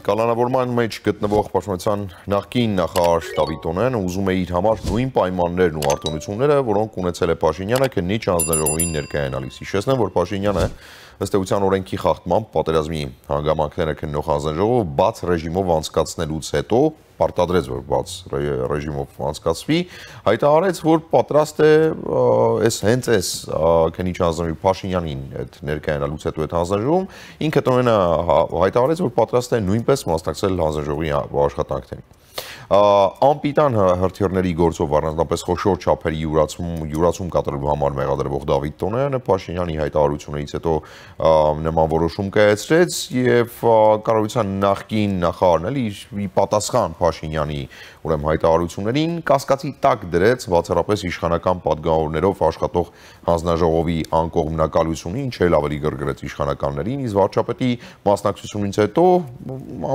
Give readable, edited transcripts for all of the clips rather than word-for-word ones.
Կալանավորման մեջ գտնվող պաշտպանության նախկին նախարար Դավիթ Տոնոյանը ուզում է իր համար նույն պայմաններն ու արտոնությունները, որոնք ունեցել է Փաշինյանը, քննիչ հանձնաժողովին ներկայանալիս։ Հիշեցնեմ, որ Փաշինյանը ըստ էության օրենքի խախտմամբ պատերազմի հանգամանքները քննող հանձնաժողովը բաց ռեժիմով անցկացնելուց հետո պարտադրեց, որ բաց ռեժիմով անցկացվի, հայտարարեց, որ պատրաստ է հենց այս քննիչ հանձնաժողովի Փաշինյանին այդ ներկայանալուց հետո այդ հանձնաժողովում ինքը Տոնոյանը հայտարարեց, որ պատրաստ է նույնպես մասնակցել հանձնաժողովի աշխատանքներին։ Անպիտան հրթիռների գործով առանձնապես խոշոր չափերի յուրացում կատարելու համար մեղադրվող Դավիթ Տոնոյանը Փաշինյանի հայտարարություններից հետո նման որոշում կայացրեց եւ կառավարության նախկին նախարարն ի պատասխան Փաշինյանի ուրեմն հայտարարություններին կասկածի տակ դրեց բացառապես իշխանական պատգամավորներով աշխատող հանձնաժողովի անկողմնակալությունը, ինչ էլ ավելի գրգռեց իշխանականներին, իսկ վարչապետի մասնակցությունից հետո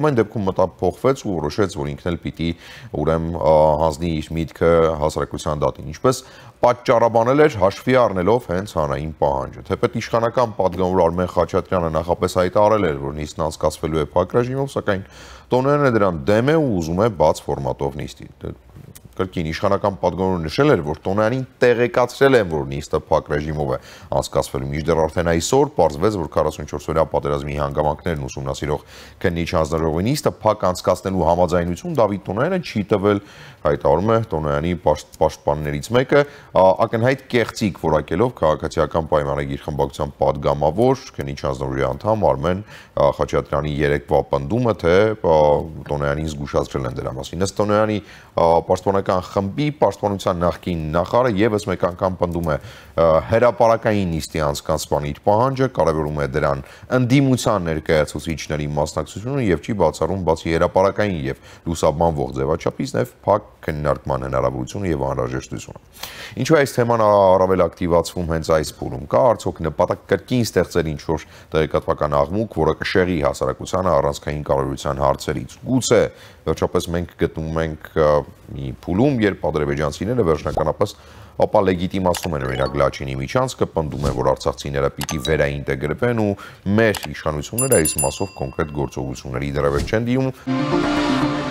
ամեն դեպքում մտափոխվեց ու որոշեց, որ ինքն էլ պիտի ուրեմն հանձնի իր միտքը հասարակության դատին, ինչպես պատճառաբանել էր հաշվի առնելով հենց հանրային պահանջը։ Թեպետ իշխանական պատգամավոր Արմեն Խաչատրյանը նախապես հայտարարել էր, որ նիստն անցկացվելու է փակ ռեժիմով, սակայն Տոնոյանը դրան դեմ է ու ուզում է բաց ֆորմատով նիստի։ Կրկին իշխանական պատգամավորը նշել էր, որ Տոնոյանին տեղեկացրել են, որ նիստը փակ ռեժիմով է անցկացվելու, մինչդեռ արդեն այսօր պարզվեց, որ 44-օրյա պատերազմի հանգամանքներն ուսումնասիրող քննիչ հանձնաժողովի նիստը փակ անցկացնելու համաձայնություն Դավիթ Տոնոյանը չի տվել, հայտարարում է Տոնոյանի պաշտպաններից մեկը, ակնհայտ կեղծիք որակելով քաղաքացիական պայմանագիր խմբակցության պատգամավոր քննիչ հանձնաժողովի անդամ Արմեն Խաչատրյանի երեկվա պնդումը, թե Տոնոյանին զգուշացրել են դրա մասին։ Ըստ Տոնոյանի պաշտպանական խմբի պաշտպանության նախկին նախարարը եւս մեկ անգամ պնդում է հրապարակային նիստի անցկացման իր պահանջը, կարևորում է դրան ընդդիմության ներկայացուցիչների մասնակցությունը եւ չի բացառում բացի հրապարակային եւ լուսաբանվող ձևաչափից նաեւ փակ քննարկման հնարավորությունը եւ անհրաժեշտությունը։ Ինչու է այս թեման առավել ակտիվացվում հենց այս փուլում, կա արդյոք նպատակ կրկին ստեղծել ինչ-որ տեղեկատվական աղմուկ, որը կշեղի հասարակությանը առանցքային կարողության հարցերից։ Գուցե վերջապես մենք գտնվում ենք մի փուլում, երբ ադրբեջանցիները վերջնականապես ապա լեգիտիմացնում են օրինակ Լաչինի միջանցքը, պնդում են, որ արցախցիները պիտի վերաինտեգրվեն ու մեր իշխանությունները այս մասով կոնկրետ գործողությունների դրավեր չեն դիմում։